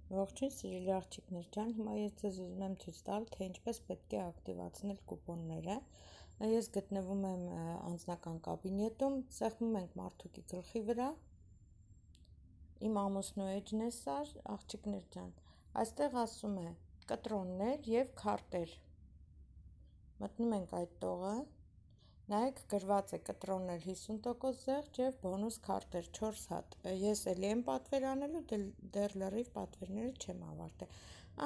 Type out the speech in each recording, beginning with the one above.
Ողջույն սիրելի աղջիկներ ջան, հիմա ես ձեզ ուզում եմ ցույց տալ, թե ինչպես պետք է ակտիվացնել կուպոնները։ Ես գտնվում եմ անձնական կաբինետում, սեղմում ենք մարդուկի գլխի վրա։ Իմ ամուսնու էջն է սա, աղջիկներ ջան, այստեղ ասում է կտրոններ եւ քարտեր։ Մտնում ենք այդ տողը, նայեք գրված է կտրոններ 50% զեղչ եւ բոնուս քարտեր 4 հատ։ Ես էլի եմ պատվեր անելու, դեռ լրիվ պատվերները չեմ ավարտել։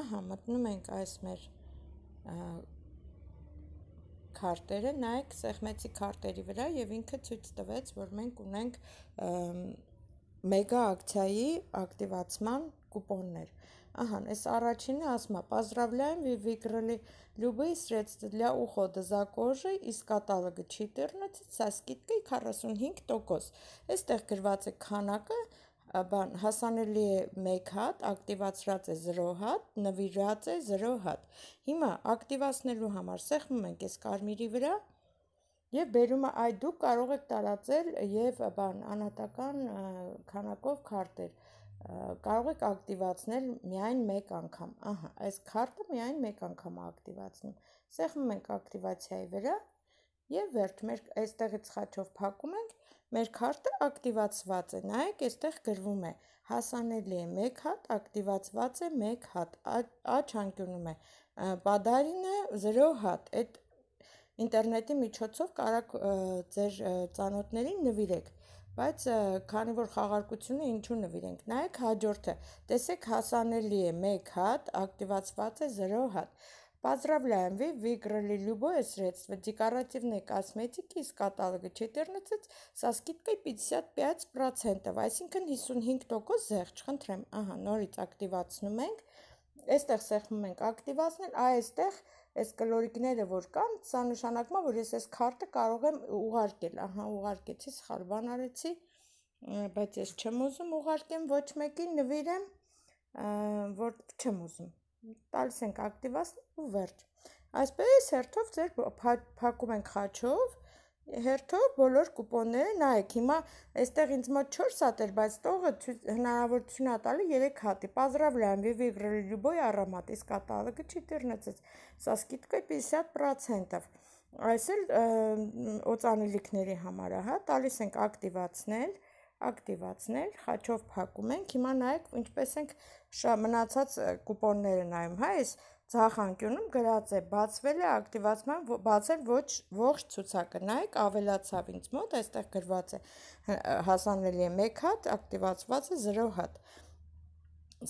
Ահա, մտնում ենք այս մեր քարտերը, նայեք սեղմեցի քարտերի վրա եւ ինքը ցույց տվեց, որ մենք ունենք մեգա ակցիայի ակտիվացման купонներ։ Ага, այս առաջինը ասում է «Поздравляем, вы выиграли любые средства для ухода за кожей из каталога 14 со скидкой 45%»։ Այստեղ գրված է քանակը, հասանելի է 1 հատ, ակտիվացրած է 0 հատ, նվիրած է 0 հատ։ Հիմա ակտիվացնելու համար սեղմում ենք այս կարմիրի վրա եւ բերում է այ դուք կարող եք տարածել եւ անհատական քանակով քարտեր, կարող եք ակտիվացնել միայն մեկ անգամ։ Ահա, այս քարտը միայն մեկ անգամ է ակտիվացնում։ Սեղմում ենք ակտիվացիայի վրա եւ վերջ, մեր այստեղից խաչով փակում ենք, մեր քարտը ակտիվացված է։ Նայեք, այստեղ գրվում է հասանելի է 1 հատ, ակտիվացված է 1 հատ, աչ անկյունում է պադարինը 0 հատ։ Այդ ինտերնետի միջոցով կարող ձեր ծանոթներին նվիրեք, բայց քանի որ խաղարկությունը ինչու նվիրենք, նայեք հաջորդը, տեսեք հասանելի է 1 հատ, ակտիվացված է 0 հատ։ Поздравляем, вы выиграли любое средство декоративной косметики из каталога 14 со скидкой 55%, այսինքն 55% զեղչ, խնդրեմ, ահա, նորից ակտիվացնում ենք, այստեղ սեղմում ենք ակտիվացնել, այստեղ այս կլորիկները որ կան, սա նշանակում է, որ ես այս քարտը կարող եմ ուղարկել, ահա, ուղարկեցի, սխալ բան արեցի, բայց ես չեմ ուզում ուղարկեմ ոչ մեկին, նվիրեմ, որ չեմ ուզում, տալիս ենք ակտիվացնել ու վերջ։ Այսպես հերթով ձեր փակում ենք խաչով, հերթով բոլոր կուպոնները, նայեք, հիմա այստեղ ինձ մոտ 4 հատ էր, բայց տողը հնարավորություն է տալի 3 հատի։ Поздравляем, вы выиграли любой аромат из каталога 14 со скидкой 50%։ Այս էլ օծանելիքների համար է, հա, տալիս ենք ակտիվացնել, խաչով փակում ենք, հիմա նայեք, ինչպես ենք մնացած կուպոնները նայում, հա, այս ձախ անկյունում գրած է բացվել է ակտիվացման, բացել ողջ ցուցակը, նայեք, ավելացավ ինձ մոտ, այստեղ գրված է հասանելի է 1 հատ, ակտիվացված է 0 հատ։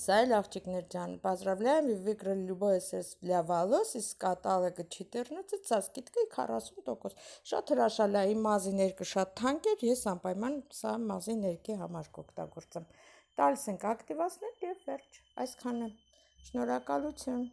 Սա էլ աղջիկներ ջան, поздравляем, вы выиграли любое средство для волос из каталога 14 со скидкой 40%։ Շատ հրաշալի է, իմ մազի ներկը շատ թանկ էր, ես անպայման սա մազի ներկի համար կօգտագործեմ։ Տալիս ենք ակտիվացնել եւ վերջ, այսքանը։ Շնորհակալություն։